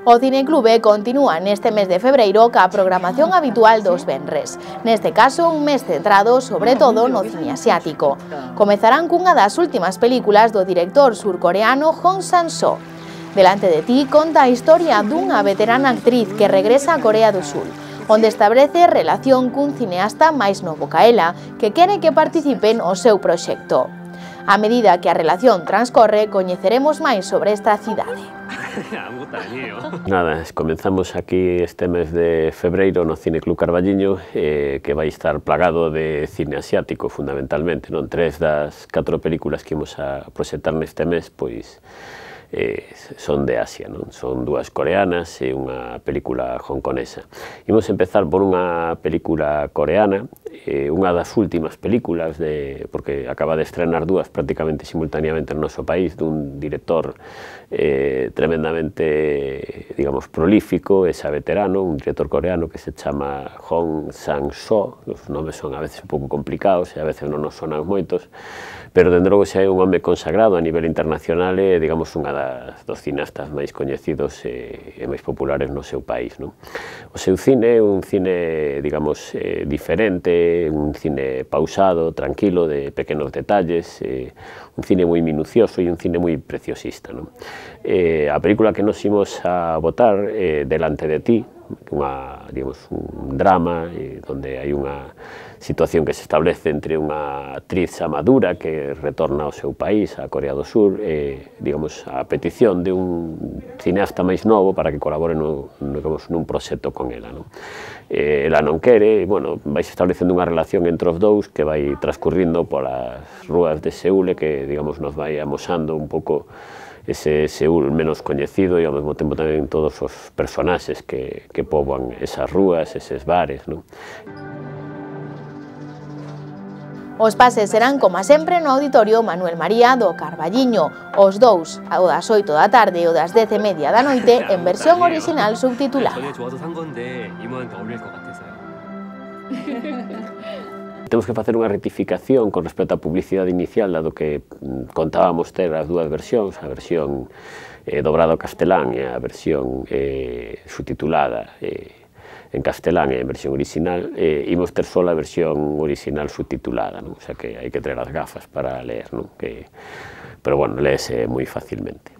O Cineclube continúa neste mes de febreiro ca programación habitual dos venres. Neste caso, un mes centrado sobre todo no cine asiático. Comezarán cunha das últimas películas do director surcoreano Hong Sang-soo. Delante de ti conta a historia dunha veterana actriz que regresa a Corea do Sur, onde establece relación cun cineasta máis novo ca ela, que quere que participe no seu proxecto. A medida que a relación transcorre, coñeceremos máis sobre esta cidade. Nada, comenzamos aquí este mes de febreiro no Cineclub Carballiño, que vai estar plagado de cine asiático, fundamentalmente, non? 3 das 4 películas que imos a proxectar neste mes, pois, son de Asia, non? Son 2 coreanas e unha película hongkonesa. Imos empezar por unha película coreana, unha das últimas películas, porque acaba de estrenar 2 prácticamente simultaneamente no noso país, dun director tremendamente, digamos, prolífico e xa veterano, un director coreano que se chama Hong Sang-soo. Os nomes son a veces un pouco complicados e a veces non nos sonan moitos, pero dende logo xa é un home consagrado a nivel internacional e, digamos, unha dos cineastas máis coñecidos e máis populares no seu país, non? O seu cine é un cine, digamos, diferente, un cine pausado, tranquilo, de pequenos detalles, un cine moi minucioso e un cine moi preciosista, non? A película que nos imos a botar Delante de ti, digamos, un drama onde hai unha situación que se establece entre unha actriz xa madura que retorna ao seu país, a Corea do Sur, digamos, a petición de un cineasta máis novo para que colabore nun proxecto con ela, non? Ela non quere, e, bueno, vai se establecendo unha relación entre os dous que vai transcurrindo polas rúas de Seúl e que, digamos, nos vai amosando un pouco ese Seúl menos coñecido e ao mesmo tempo tamén todos os personaxes que poboan esas rúas, eses bares, non? Os pases serán, como sempre, no Auditorio Manuel María do Carballiño. Os dous, o das 8 da tarde e o das 10:30 da noite, en versión original subtitulada. Temos que facer unha rectificación con respecto á publicidade inicial, dado que contábamos ter as 2 versións, a versión dobrada ao castelán e a versión subtitulada en castelán e en versión original, imos ter só a versión original subtitulada, non? O sea que hai que traer as gafas para ler, non? Pero, bueno, léese moi facilmente.